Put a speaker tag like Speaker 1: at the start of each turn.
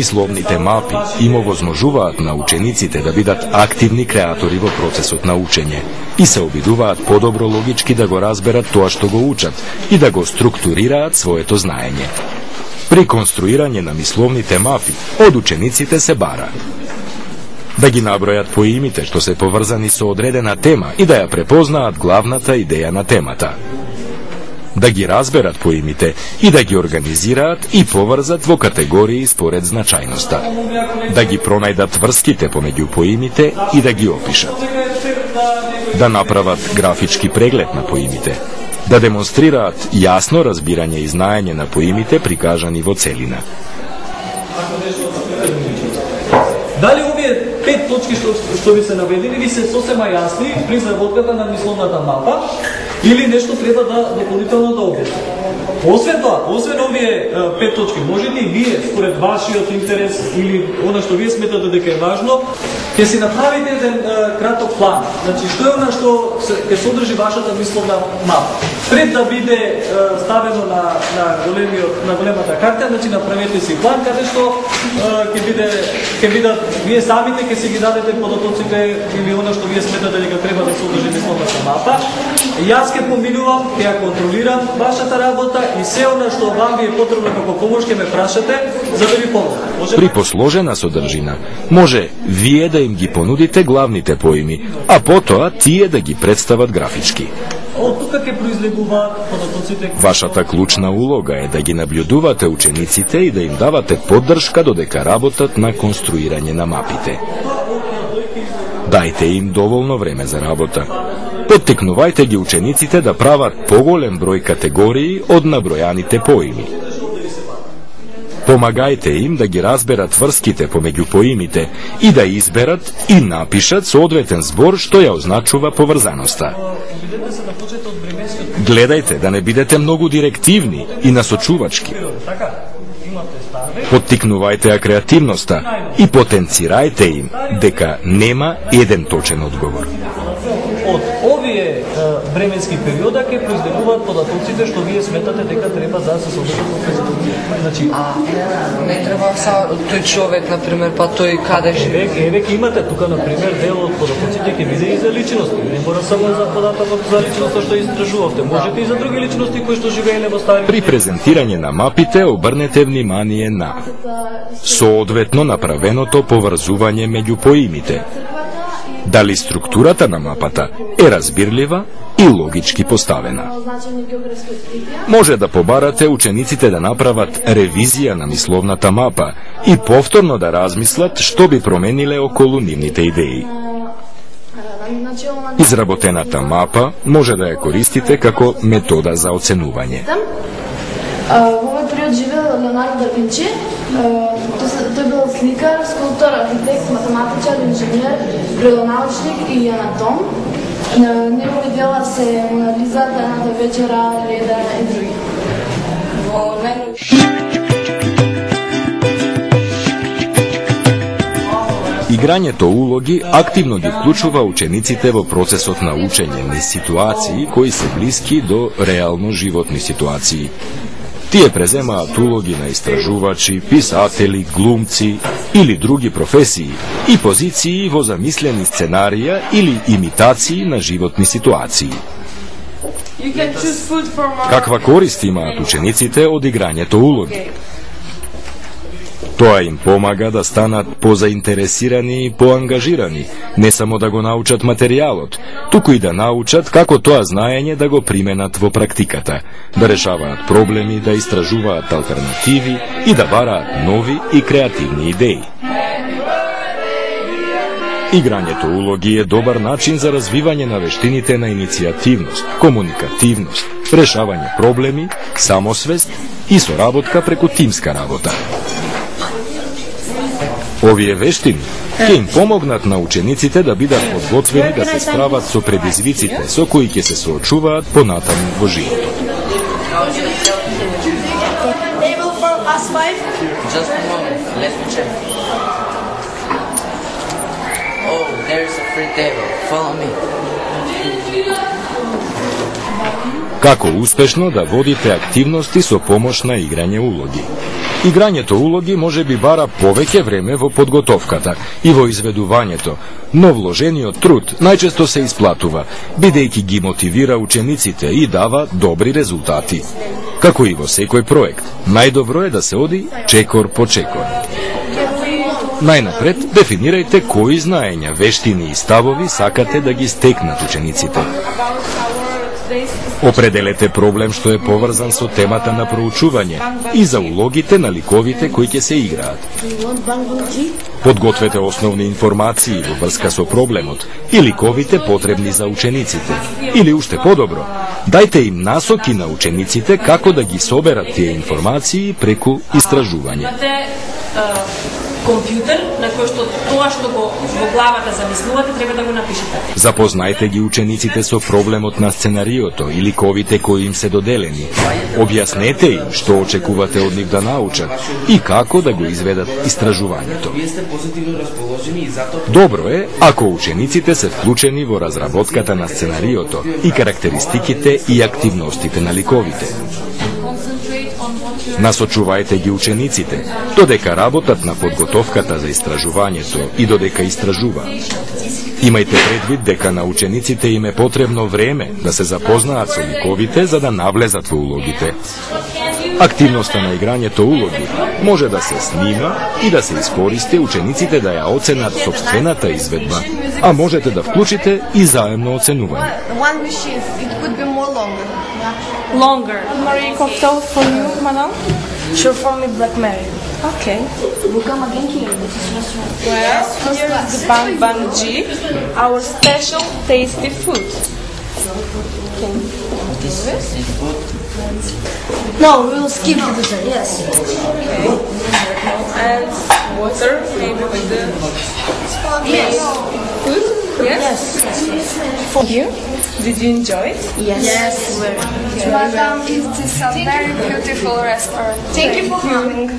Speaker 1: Мисловните мапи им овозможуваат на учениците да бидат активни креатори во процесот на учење и се обидуваат подобро логички да го разберат тоа што го учат и да го структурираат своето знаење. При конструирање на мисловните мапи од учениците се бара да ги набројат поимите што се поврзани со одредена тема и да ја препознаат главната идеја на темата, да ги разберат поимите и да ги организираат и поврзат во категории според значајноста, да ги пронајдат врските помеѓу поимите и да ги опишат, да направат графички преглед на поимите, да демонстрираат јасно разбирање и знаење на поимите прикажани во целина.
Speaker 2: Дали овие 5 точки што ви се наведени ви се сосема јасни при изработката на мисловната мапа или нешто треба да дополнително да објасни? Освен тоа, освен овие 5 точки, може ли вие според вашиот интерес или она што вие сметате дека е важно, ќе си направите еден краток план. Значи што е она што ќе содржи вашата мисловна мапа? Пред да биде ставено на големата карта, значи направете си план каде што ќе бидат вие самите ќе си ги дадете податоците или она што вие сметате дека треба да содржи мисловната мапа. Јас ќе поминувам, ќе ја контролирам вашата работа и се она што вам ви е потребно како помош ќе ме прашате за да ви помогнам.
Speaker 1: При посложена содржина може вие да им ги понудите главните поими, а потоа тие да ги представат графички.
Speaker 2: Од тука ќе произлегуваат податоците.
Speaker 1: Вашата клучна улога е да ги наблюдувате учениците и да им давате поддршка додека работат на конструирање на мапите. Дајте им доволно време за работа. Поттикнувајте ги учениците да прават поголем број категории од набројаните поими. Помагајте им да ги разберат врските помеѓу поимите и да изберат и напишат соодветен збор што ја означува поврзаноста. Гледајте да не бидете многу директивни и насочувачки. Поттикнувајте ја креативноста и потенцирајте им дека нема еден точен одговор.
Speaker 2: Од овие временски периода ќе произлегуваат податоците што вие сметате дека треба да се содржат во презентацијата. Значи,
Speaker 3: не треба само тој човек, на пример, па тој каде живее.
Speaker 2: Еве ќе имате тука на пример дел од податоците ќе биде и за личности. Не мора само за податокот за личноста што истражувавте. Можете и за други личности кои што живееле во стари.
Speaker 1: При презентирање на мапите обрнете внимание на соодветно направеното поврзување меѓу поимите. Дали структурата на мапата е разбирлива и логички поставена. Може да побарате учениците да направат ревизија на мисловната мапа и повторно да размислат што би промениле околу нивните идеи. Изработената мапа може да ја користите како метода за оценување.
Speaker 4: Во овој период живеел Леонардо да Винчи. Тој бил сликар, скулптор, архитект, математичар, инженер, природонаучник и анатом. Негови дела се Мона Лиза, Тајната вечера, Леда и други.
Speaker 1: Играњето улоги активно ги вклучува учениците во процесот на учење низ ситуации кои се блиски до реално животни ситуации. Тие преземаат улоги на истражувачи, писатели, глумци или други професии и позиции во замислени сценарија или имитации на животни ситуации. Каква корист имаат учениците од играњето улоги? Тоа им помага да станат позаинтересирани и поангажирани, не само да го научат материјалот, туку и да научат како тоа знаење да го применат во практиката, да решаваат проблеми, да истражуваат алтернативи и да бараат нови и креативни идеи. Играњето улоги е добар начин за развивање на вештините на иницијативност, комуникативност, решавање проблеми, самосвест и соработка преку тимска работа. Овие вештини ќе им помогнат на учениците да бидат подготвени да се справат со предизвиците со кои ќе се соочуваат понатаму во животот. Како успешно да водите активности со помош на играње улоги? Играњето улоги може би бара повеќе време во подготовката и во изведувањето, но вложениот труд најчесто се исплатува, бидејќи ги мотивира учениците и дава добри резултати. Како и во секој проект, најдобро е да се оди чекор по чекор. Најнапред, дефинирајте кои знаења, вештини и ставови сакате да ги стекнат учениците. Определете проблем што е поврзан со темата на проучување и за улогите на ликовите кои ќе се играат. Подгответе основни информации во врска со проблемот и ликовите потребни за учениците. Или уште подобро, дајте им насоки на учениците како да ги соберат тие информации преку истражување.
Speaker 5: Компјутер на кој што тоа што го во главата замислувате треба да го напишете.
Speaker 1: Запознајте ги учениците со проблемот на сценариото и ликовите кои им се доделени. Објаснете им што очекувате од нив да научат и како да го изведат истражувањето. Добро е ако учениците се вклучени во разработката на сценариото и карактеристиките и активностите на ликовите. Насочувајте ги учениците, додека работат на подготовката за истражувањето и додека истражуваат. Имајте предвид дека на учениците им е потребно време да се запознаат со ликовите за да навлезат во улогите. Активноста на играњето улоги може да се снима и да се искористи учениците да ја оценат сопствената изведба, а можете да вклучите и заемно оценување.
Speaker 6: Longer. Marie cocktail for you, madam? Sure, for me, Black Mary. Okay. Well, here's the Bang Bang G, our special tasty food. Okay. This?
Speaker 4: No, we will skip the dessert, yes.
Speaker 6: Okay. And water, maybe with the
Speaker 4: Yes.
Speaker 6: food? Yes? For you? Did you enjoy it?
Speaker 4: Yes.
Speaker 7: Madam, it is a very beautiful restaurant.
Speaker 6: Thank you for coming.